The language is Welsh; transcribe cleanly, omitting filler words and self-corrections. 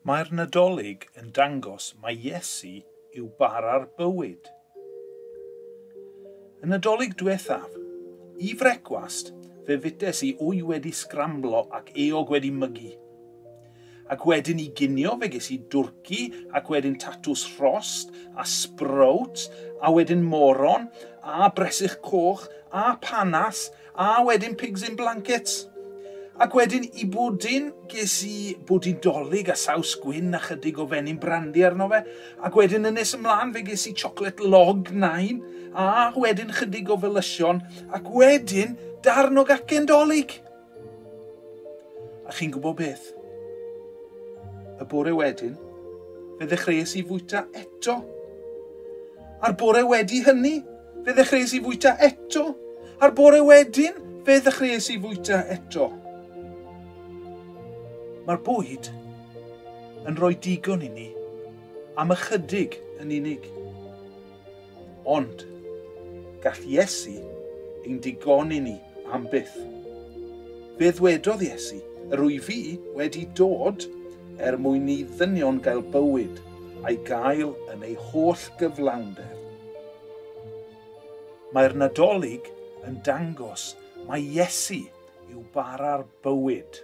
Mae'r Nadolig yn dangos mai Iesu yw bara'r bywyd. Y Nadolig diwethaf, i frecwast, fe fytes i wy wedi sgramblo ac eog wedi mygu. Ac wedyn i ginio fe ges i dwrci ac wedyn tatws rhost a sprout a wedyn moron a bresych coch a panas a wedyn pigs in blankets. Ac wedyn i bwdin, ges i bwdin dolig a saws gwyn a chydig o fenyn brandi arno fe. Ac wedyn yn nes ymlaen fe ges i chocolate log nain a wedyn chydig o felysion ac wedyn darn o gacen dolig. A chi'n gwybod beth? Y bore wedyn, fe ddechreuais i fwyta eto. A'r bore wedi hynny, fe ddechreuais i fwyta eto. A'r bore wedyn, fe ddechreuais i fwyta eto. Mae'r bwyd yn rhoi digon i ni am ychydig yn unig. Ond gall Iesu ein digoni ni am byth. Fe ddwedodd Iesu, yr wyf fi wedi dod er mwyn i ddynion gael bywyd a'i gael yn ei holl gyflawnder. Mae'r Nadolig yn dangos mai Iesu yw bara'r bywyd.